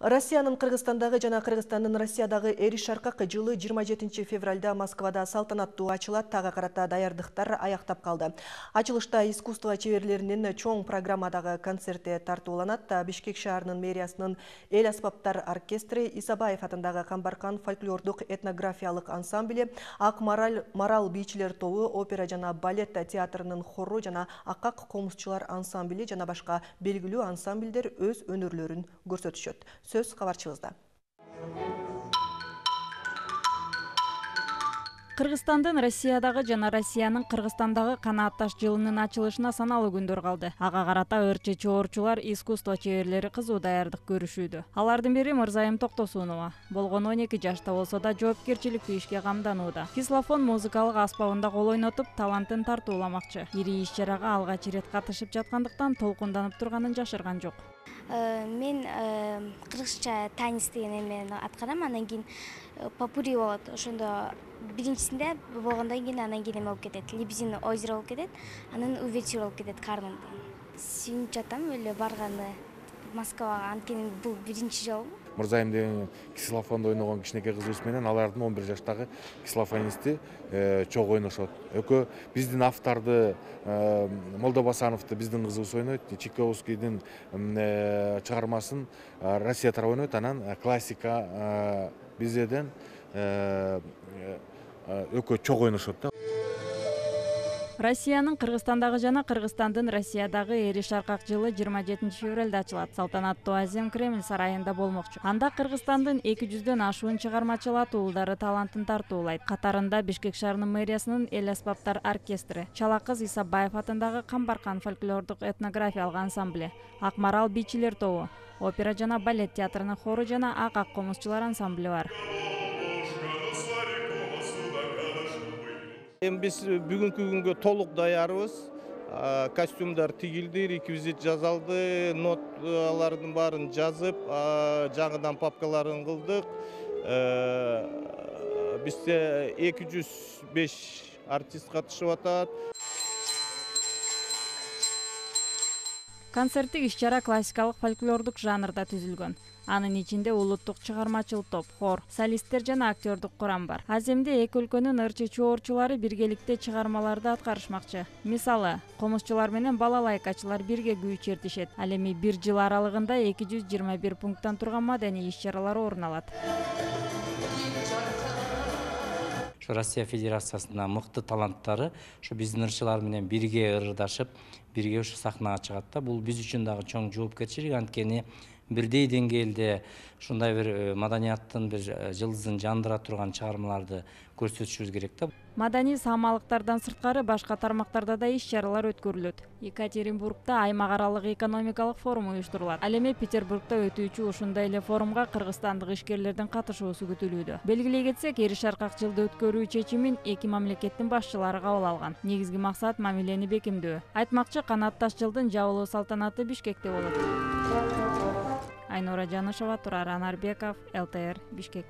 Россиянын Кыргызстандагы жана Кыргызстандын Россиядагы эриş шаркак жылы 27 февралда Москвада салтанаттуу ачылат. Тага карата даярдыктар аяктап калды. Ачылышта искусство чеберлеринин чоң программадагы концерти тартууланат. Бишкек шаарынын мэриясынын эл аспаптар оркестри, Исабаев атындагы Камбаркан фольклордук этнографиялык ансамблі, Ак Марал бийчилер тобу, опера жана балет театрынын хору жана Акак комузчулар ансамблі жана башка белгилүү ансамбльдер өз өнөрлөрүн көрсөтүшөт. Сөз кабарчыбызда. Кыргызстандын Россиядагы жана Россиянын Кыргызстандагы канаатташ жылынын ачылышына саналуу күндөр калды. Ага карата ырчы чоорчулар, искусство чеберлери кызуу даярдык көрүшүүдө. Алардын бири Мырзайым Токтосунова. Болгону 12 жашта болсо да жоопкерчиликтүү ишке камданууда. Кислофон музыкалык аспабында кол ойнотуп, талантын тартууламакчы. Ири иш-чарага алгач ирет катышып жаткандыктан толкунданып турганын жашырган жок. Мен кыргызча танец деген эмени аткарам, анан кийин попури болот. Ошондо биринчисинде болгондон кийин анан кийин эме болуп кетет. Лебезин озеро болуп кетет, анан увертюра болуп кетет Кармен. Сүйүнүп жатам эле барганы Москвага, анткени бул биринчи жолу. Мырзайым деген ксилофондо ойногон кичинекей кызыбыз менен алардын 11 жаштагы ксилофонисти чогуу ойношот. Экөө биздин авторду Молдобасановду биздин кызыбыз ойнойт. Чайковскийдин чыгармасын Россия тарабы ойнойт. Анан классика бизден экөө чогуу ойношот да. Россиянын Кыргызстандагы жана Кыргызстандын Россиядагы эриş шаркак жылы 27 февралда ачылат. Салтанаттуу Азем Кремль сарайында болмокчу. Анда Кыргызстандын 200дөн ашуун чыгармачыл атуулдары талантын тартуулайт. Катарында Бишкек шаарынын мэриясынын эл аспаптар оркестри, Чала кыз Исабаев атындагы Камбаркан фольклордук этнографиялык ансамблі, Ак Марал бийчилер тобу, опера жана балет театрынын хору жана Акак комузчулар ансамблі бар. Биз бүгүнкү күнгө толук даярбыз. Костюмдар тигилди, реквизит жазалды, ноталардын баарын жазып, жаңыдан папкаларын кылдык. Бизде 205 артист катышып атат. Концерттик иш-чара классикалык фольклордук жанрда түзүлгөн. Анын ичинде улуттук чыгармачыл топ, хор, солисттер жана актёрдук курам бар. Аземде эки өлкөнүн ырчы чоорчулары биргеликте чыгармаларды аткарышмакчы. Мисалы, комузчулар менен балалайкачылар бирге күү чертишет. Ал эми бир жыл аралыгында 221 пункттан турган маданий иш-чаралар орун алат. Россия Федерациясында мыкты таланттары ошо биздин ырчылар менен бирге ырдашып, бирге ушу сахнага чыгат да. Бул биз үчүн дагы чоң жоопкерчилик, анткени бирдей деңгээлде ушундай бир маданияттын бир жылдызын жандыра турган чыгармаларды көрсөтүшүбүз керек да. Маданий саамалыктардан сырткары башка тармактарда да иш-чаралар өткөрүлөт. Екатеринбургда аймак аралык экономикалык форум уюштурулат. Ал эми Петербургда өтүүчү ушундай эле форумга кыргызстандык ишкерлердин катышуусу күтүлүүдө. Белгилей кетсек, эриş шаркак жылды өткөрүү чечимин эки мамлекеттин башчылары кабыл алган. Негизги максат мамилени бекемдөө. Айтмакчы, канаатташ жылдын жабылуу салтанаты Бишкекте болот. Айнура Жанышева, Турар Анарбеков, ЛТР, Бишкек.